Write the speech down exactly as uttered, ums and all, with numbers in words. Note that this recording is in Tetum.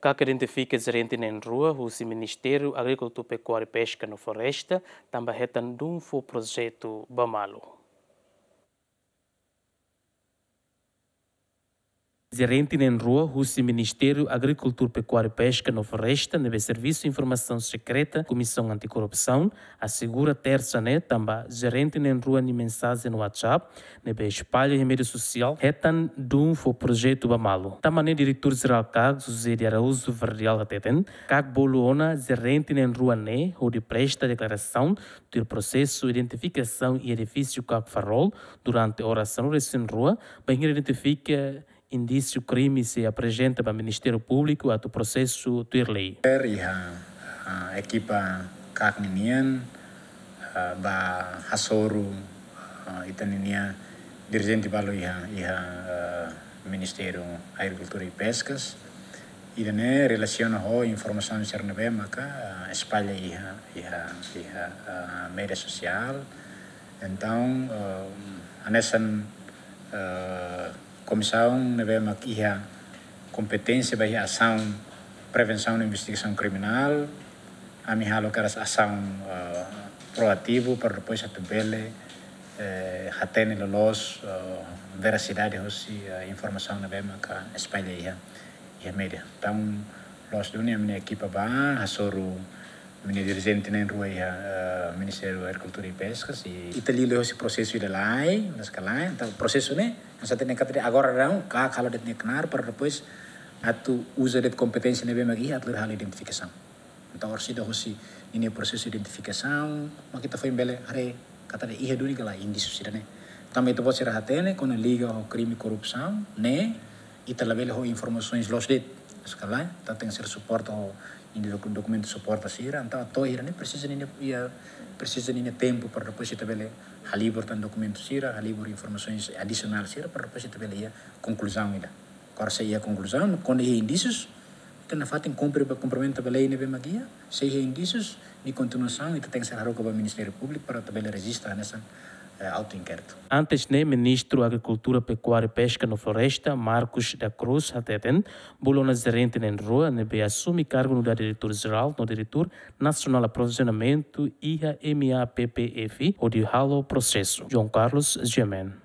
KAK identifika jerente na'in-rua husi Ministériu Agrikultura, Pekuária, Peska no Floresta, tanba hetan dun fó projetu ba malu. Jerente na'in-rua husi Ministériu Agrikultura, Pekuária, Peska no Floresta, ne'ebé Servisu Informasaun Sekreta Komisaun Antikorrupsaun, asegura Tersa ne'e tanba jerente na'in-rua nia mensajen WhatsApp ne'ebé espalla iha média sosiál hetan dun fó projetu ba malu. Tanba ne'e Diretór Jerál KAK, José de Araújo Verdial, hateten, KAK bolu ona jerente na'in-rua ne'e hodi presta deklarasaun tuir prosesu identifikasaun iha edifísiu KAK Farol durante oras sanulu-resin-rua, bainhira identifika indísiu krime sei aprezenta ba Ministériu Públiku atu prosesu tuir lei. Iha, ah, ekipa KAK ninian, ah, bá hasoru, ah, ita-nia dirijente balu iha, iha, ah, Ministériu Agrikultura i Peskas. Ida-ne'e relasiona ho informasaun sira ne'ebé maka, ah, espalla iha, iha, iha, ah, média sosiál. Entaun, ah, hanesan, ah, komisaun ne'ebé mak iha kompeténsia ba iha asaun prevensaun no investigasaun kriminál, ami halo kedas asaun, eh, proativu para depois atu bele, eh, hatene loloos, eh, verasidade hosi, eh, informasaun ne'ebé maka espalla iha, iha média. Entaun, loos duni ami-nia ekipa bá hasoru ami-nia dirijente na'in-rua iha, eh, Ministériu Agrikultura i Peskas, i ita liuliu hosi prosesu ida lai, mas ka lai, entaun prosesu ne'e, nusá hatene katak agora daudaun, KAK halo de'it nia knaar, para depois atu uza de'it kompeténsia ne'ebé mak iha, atu halo identifikasaun. Entaun, orsida hosi ninia prosesu identifikasaun, mak ita foin bele haree katak iha duni ka lae indísiu sira-ne'e. Tanba ita-boot sira hatene, kuandu liga ho krime korrupsaun, ne'e, ita labele ho informasaun loos de'it. Sekali, ita tenke ser suporta ho ninia doku-, dokumentu suporta sira, entaun atu hira ne'e presiza ninia, iha, presiza ninia tempu para depois ita bele halibur tan dokumentu sira, halibur informasaun adisionál sira, para depois ita bele iha konkluzaun ida. Agora se iha konkluzaun, kuandu iha indísius, ita nafatin kumpre ba, kumprimenta ba lei ne'ebé mak iha, se iha indísius, nia kontinuasaun, ita tenke ser haruka ba Ministériu Públiku para atu bele rejista hanesan, eh, auto-inkéritu. Antes ne'e, Ministru Agrikultura, Pekuária, Peska no Floresta, Marcos da Cruz, hateten, bolu ona jerente na'in-rua ne'ebé asume kargu nu'udar Diretór Jerál no Diretór Nasionál Aprovizionamentu iha MAPPF, hodi halo prosesu. João Carlos Giamen.